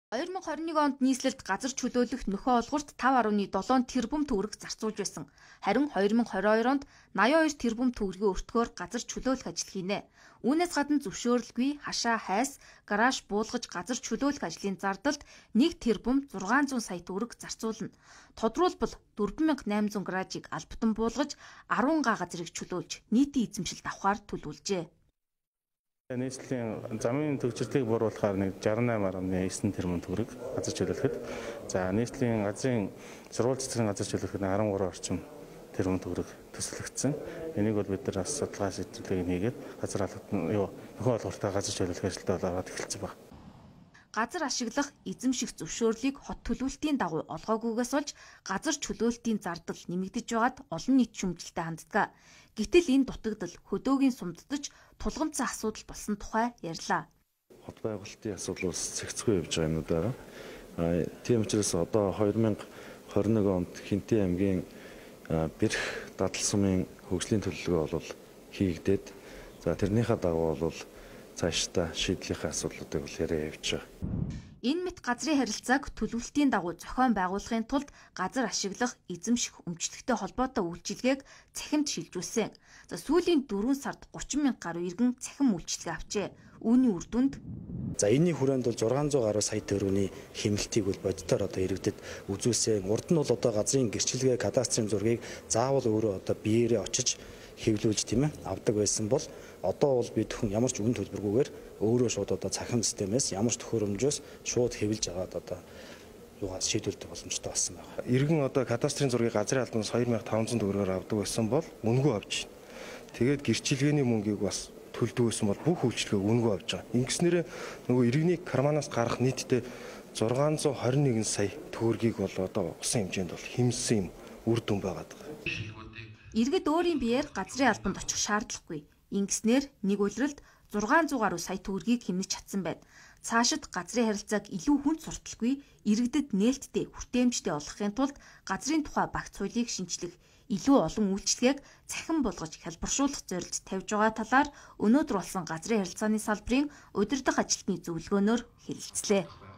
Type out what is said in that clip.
2021 онд нийслэлд газар чөлөөлөх нөхөө олгорт 5.7 тэрбум төгрөг зарцуулж байсан. Харин 2022 онд 82 тэрбум төгрөгийн өртгөөр газар чөлөөлөх ажил хийнэ. Үүнээс гадна зөвшөөрлгүй хашаа хайс, гараж буулгаж газар чөлөөлөх ажлын зардалд 1 тэрбум 600 сая төгрөг зарцуулна. Тодруулбал 4800 гаражийг албатан буулгаж 10 га газрыг чөлөөлж нийтийн эзэмшилд авахар төлөвлөжээ. Нийслэлийн замын төгжрлийг бууруулахаар 68.9 тэрбум төгрөг газар чөлөөлөхөд, за нийслэлийн газрын сургууль цэцгийн газар чөлөөлөхөд 13 орчим тэрбум төгрөг төсөлөгдсөн. Энийг бол бид нар бас судалгаа шийдвэрлэгийг хийгээд газар нөхөө олгортоо газар чөлөөлөх ажилдаа ороод эхэлсэн байна. Газар ашиглах эзэмших зөвшөөрлийг хот төлөвлөлтийн дагуу олгоогүйгээс болж газар чөлөөлтийн зардал нэмэгдэж байгаад олон нийт шүмжлэлтэй ханддаг. Гэтэл энэ дутагдал хөдөөгийн сумддаж тулгамдсан асуудал болсон тухай ярьлаа. Хот байгуулалтын асуудал бас цэгцгүй явж байгаа юм байна. Тийм учраас одоо 2021 онд Хинтээ аймгийн Бэрх дадал сумын хөгжлийн төлөвлөгөө бол хийгдээд, за тэрнийхээ дагуу бол цаашдаа шийдлийнхээ асуудлуудыг бол яриа явж байгаа. Энэ мэт газрын харилцааг төлөвлөлтийн дагуу зохион байгуулахын тулд газар ашиглах, эзэмших, өмчлөгтэй холбоотой үйлчилгээг цахимд шилжүүлсэн. За сүүлийн 4 сард 30 мянга гаруй иргэн цахим үйлчилгээ авчээ. Үүний үр дүнд энэний хүрээнд бол 600 гаруй сая төгрөгийн хэмнэлтийг бол бодитоор одоо иргэдэд үзүүлсэн. Урд нь бол одоо газрын гэрчлэгээ, кадастрын зургийг заавал өөрөө одоо биеэрээ очиж хэвлүүлж тийм ээ авдаг байсан бол одоо бол бид хүн ямар ч үн төлбөргүйгээр өөрөө шууд одоо цахим системээс ямар ч төхөөрөмжөөс шууд хэвлж аваад одоо юугаас шийдвэрлэх боломжтой болсон байна. Иргэн одоо кадастрын зургийг газрын албанаас 2500 төгрөгөөр авдаг байсан бол үнэгүй авч байна. Тэгээд гэрчлэгээний мөнгийг бас төлдөг байсан бол бүх үйлчлэгээ үнэгүй авч байгаа. Ингэснээрээ нөгөө иргэний карманаас гарах нийтдээ 621 сая төгрөгийг бол одоо усан хэмжээнд бол хэмсэн юм үр дүн байгаад байгаа. Иргэд өөрийн биеэр газрын албанд очих шаардлагагүй. Ингэснээр нэг улиралд 600 гаруй сая төгрөгийг хэмнэж чадсан байна. Цаашид газрын харилцааг илүү хүнд сурталгүй, иргэдэд нээлттэй, хүртээмжтэй болгохын тулд газрын тухай багц хуулийг шинчлэх, илүү олон үйлчлэгээг цахим болгож хялбаршуулах зорилт тавьж байгаа талаар өнөөдөр болсон газрын харилцааны салбарын удирдах ажилтны зөвлөгөөнөөр хэлэлцлээ.